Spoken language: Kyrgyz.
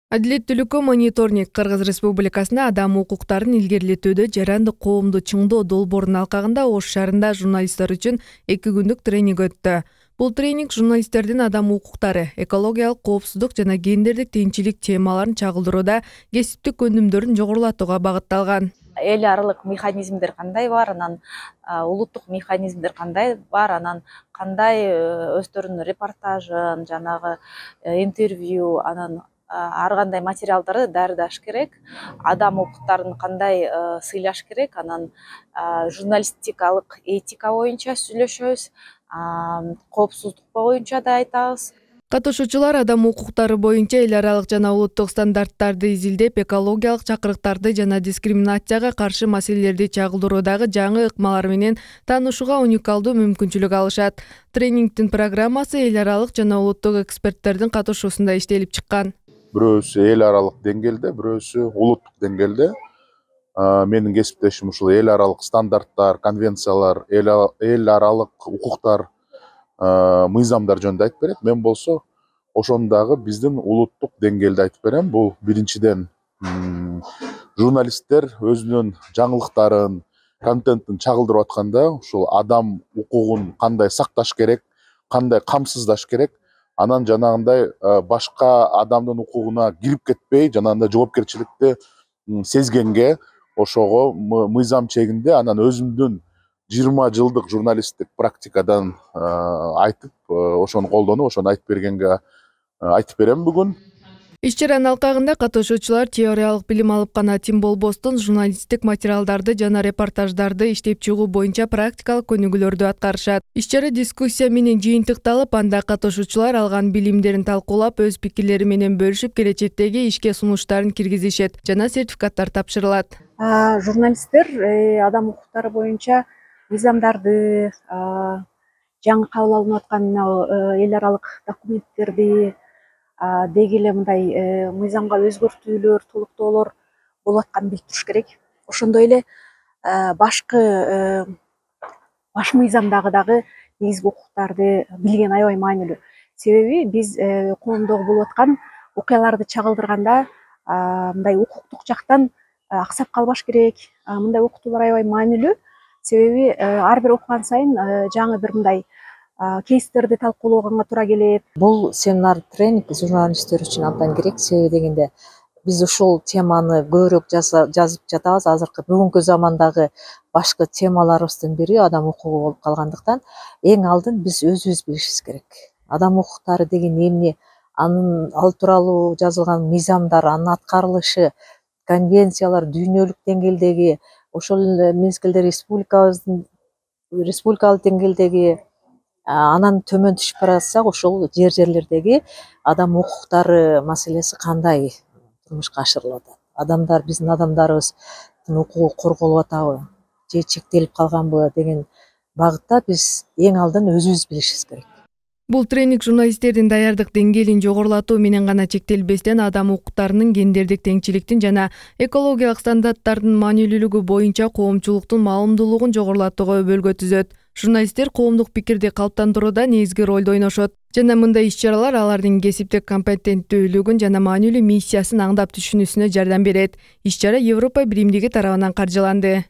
Адилеттүүлүккө мониторинг Кыргыз Республикасында адам укуктарын илгерилетүүдө жарандык коомду чыңдоо долбоорунун алкагында Ош шаарында журналисттер үчүн 2 күндүк тренинг өттү. Бул тренинг журналисттердин адам укуктары, экологиялык коопсуздук жана гендердик теңчилик темаларын чагылдырууда кесиптик өнүмдөрүн жогорулатууга багытталган. Эл аралык механизмдер кандай бар, анан улуттук механизмдер кандай бар, анан кандай өздөрүнүн репортажын, жанагы интервью, анан ар кандай материалдарды даярдаш керек, адам укуктарын кандай сыйлаш керек, анан журналистикалык этика боюнча сүйлөшөбүз, коопсуздук боюнча да айтабыз. Катышуучулар адам укуктары боюнча эл аралык жана улуттук стандарттарды изилдеп, экологиялык чакырыктарды жана дискриминацияга каршы маселелерди чагылдыруудагы жаңы ыкмалар менен таанышууга уникалдуу мүмкүнчүлүк алышат. Тренингдин программасы эл аралык жана улуттук эксперттердин катышуусунда иштелип чыккан. Бирөөсү эл аралык деңгээлде, бирөөсү улуттук деңгээлде. Менин кесиптешим ушул эл аралык стандарттар, конвенциялар, эл аралык укуктар, мыйзамдар жөнүндө айтып берет. Мен болсо ошону дагы биздин улуттук деңгээлде айтып берем. Бул биринчиден журналисттер өзүнүн жаңылыктарын, контентин чагылдырып атканда ушул адам укугун кандай сакташ керек, кандай камсыздаш керек, анан жанагындай башка адамдын укугуна кирип кетпей, жанагындай жоопкерчиликти сезгенге, ошого мыйзам чегинде анан өзүмдүн 20 жылдык журналисттик практикадан айтып, ошону колдонуп, ошону айтып бергенге айтып берем бүгүн. Иш-чаранын алкагында катышуучулар теориялык билим алып гана тим болбостон журналисттик материалдарды жана репортаждарды иштеп чыгуу боюнча практикалык өнүгүүлөрдү аткарышат. Иш-чара дискуссия менен жыйынтыкталып, анда катышуучулар алган билимдерин талкуулап, өз пикирлери менен бөлүшүп, келечектеги ишке сунуштарын киргизишет жана сертификаттар тапшырылат. Журналисттер адам укуктары боюнча мыйзамдарды, жаңы кабыл алынып аткан эл аралык документтерди, деги эле мындай мыйзамга өзгөртүүлөр, толуктоолор болуп атканын билип туруш керек. Ошондой эле баш мыйзамдагы дагы негизги укуктарды билген аябай маанилүү. Себеби биз коомдогу болуп аткан окуяларды чагылдырганда мындай укуктук жактан аксап калбаш керек. Мындай окутуулар аябай маанилүү. Себеби ар бир окуган сайын жаңы бир мындай кейстерди талкуулоого туура келет. Бул семинар тренинг журналисттер үчүн абдан керек. Себеби дегенде биз ушул теманы көбүрөөк жазып жатабыз. Азыркы бүгүнкү замандагы башкы темаларыбыздын бири адам укугу болуп калгандыктан эң алдын биз өзүбүз билишибиз керек. Адам укуктары деген эмне, ал тууралуу жазылган мыйзамдар, анын аткарылышы, конвенциялар, дүйнөлүк деңгээлдеги, ошол эле мезгилде республикалык деңгээлдеги, анан төмөн түшүп бара жатсак, ошол жерлердеги адам укуктары маселеси кандай турмушка ашырылып атат. Биздин адамдарыбыздын укугу корголуп атабы же чектелип калганбы деген багытта биз эң алдын өзүбүз билишибиз керек. Бул тренинг журналисттердин даярдык деңгээлин жогорулатуу менен гана чектелбестен, адам укуктарынын, гендердик теңчиликтин жана экологиялык стандарттардын маанилүүлүгү боюнча коомчулуктун маалымдуулугун жогорулатууга өбөлгө түзөт. Журналисттер коомдук пикирди калыптандырууда негизги ролду ойношот жана мындай иш-чаралар алардын кесиптик компетенттүүлүгүн жана маанилүү миссиясын аңдап түшүнүүсүнө жардам берет. Иш-чара Европа биримдиги тарабынан каржыланды.